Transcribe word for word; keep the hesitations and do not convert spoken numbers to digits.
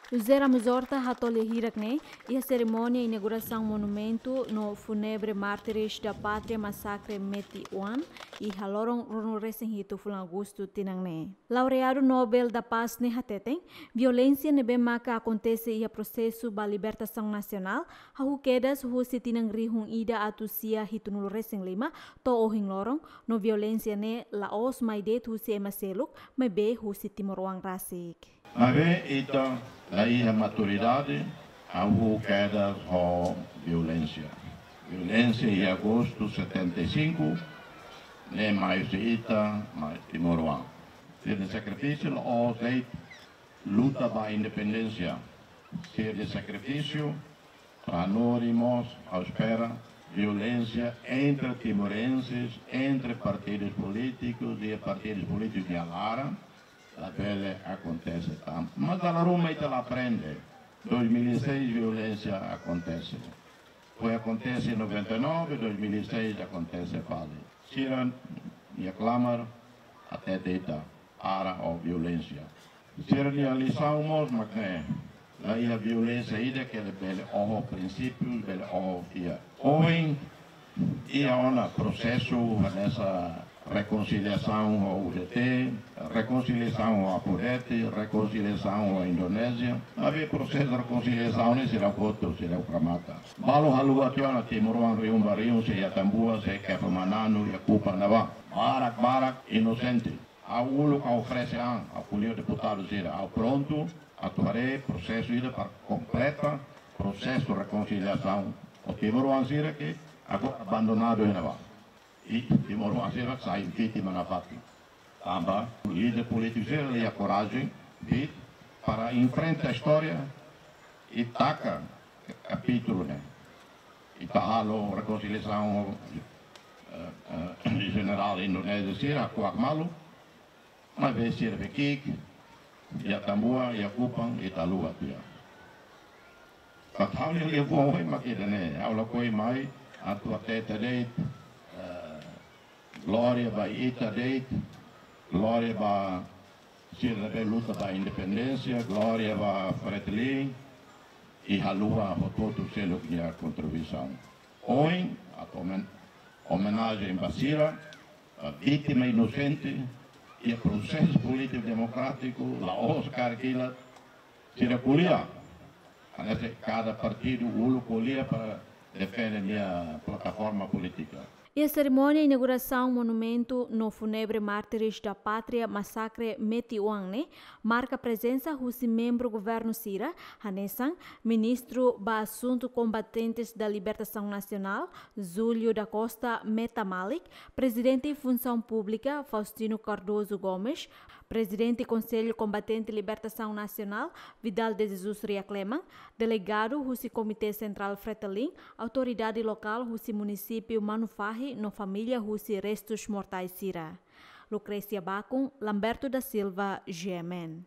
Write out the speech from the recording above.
José Ramos Horta hato'o lia hirak ne'e iha serimónia inaugurasaun monumentu no fúnebre Mártires da Pátria Masakre Meti-Uan iha loron ruanulu resin hitu fulan Agostu tinan ne'e. Laureadu Nobel da Paz ne'e hateten, violénsia ne'ebé maka akontese iha prosesu ba libertasaun nasionál hahú kedas husi tinan rihun ida atus sia hitunulu resin lima to'o ohin loron, no violénsia ne'e la'ós mai de'it husi ema seluk, maibé husi timoroan rasik. Maibé ita la iha maturidade, hahú kedas ho violénsia. Violénsia iha Agostu setenta e cinco, ne'e mai husi ita, mai timoroan. Sira-nia sakrifísiu la'ós de'it luta ba independénsia. Sira-nia sakrifísiu para nós irmãos, ha'u espera, violénsia entre timorenses, entre partidus polítikus, iha partidus polítikus nia laran, labele akontese tan. Mas dala ruma ita la aprende. Dois mil e seis violénsia akontese. Foin akontese em noventa e nove, dois mil e seis akontese fali. Sira-nia klamar hatete ita, para ho violénsia. Sira-nia lisaun mós mak ne'e. La iha violénsia ida ke bele oho prinsípiu, bele oho fiar. Ohin, iha ona prosesu hanesan rekonsiliasaun ho U D T, rekonsiliasaun ho Apo Deti, rekonsiliasaun ho Indonézia. Maibé prosesu rekonsiliasaun ne'e seidauk hotu, seidauk remata. Balu haluha tiha ona timoroan rihun ba rihun, sei iha Atambua, sei Kepa Mananu, iha Kupang ne'ebá. Barak, barak inosente. Ha'u uluk ha'u oferese an, ha'u ko'alia ho deputadu sira, ha'u prontu atu haree prosesu ida para kompleta prosesu rekonsiliasaun ho timoroan sira ke agora abandonadu iha ne'ebá. I timoroan sira sai vítima nafatin. Tanba líder polítiku sira la iha korajen, fit, para enfrenta istória i taka kapítulu ne'e. Ita halo rekonsiliasaun, eh, eh, jenerál Indonézia sira, kuak malu, maibé sira be ki'ik, iha Atambua, iha Kupang, ita haluha tiha. But ha'u-nia liafuan ohin mak ida-ne'e, ha'u lakohi mai atu hatete de'it, eh, glória ba ita de'it, glória ba sira ne'ebé luta ba independénsia, glória ba Fretilin, i haluha hotu-hotu seluk nia kontribuisaun. Ohin, atu omen-, omenajen ba sira, eh, vítima inosente, iha prosesu polítiku demokrátiku, la'ós karik hela, sira ko'alia. Hanesan kada partidu uluk ko'alia para defende nia plataforma polítika. Iha serimónia inaugurasaun monumentu no fúnebre Mártires da Pátria Masakre Meti-Uan ne'e, marka prezensa husi membru governu sira, hanesan Ministru ba Asuntu Kombatentes da Libertasaun Nasionál, Júlio da Costa Meta Malik, Prezidente Funsaun Públika, Faustino Cardoso Gomes, Prezidente Konsellu Kombatente Libertasaun Nasionál, Vidal de Jesus Riakleman, delegadu husi Komité Sentrál Fretilin, autoridade lokál husi munisípiu Manufahi no família husi restus mortais sira. Lucrécia Bacon, Lamberto da Silva, G M N.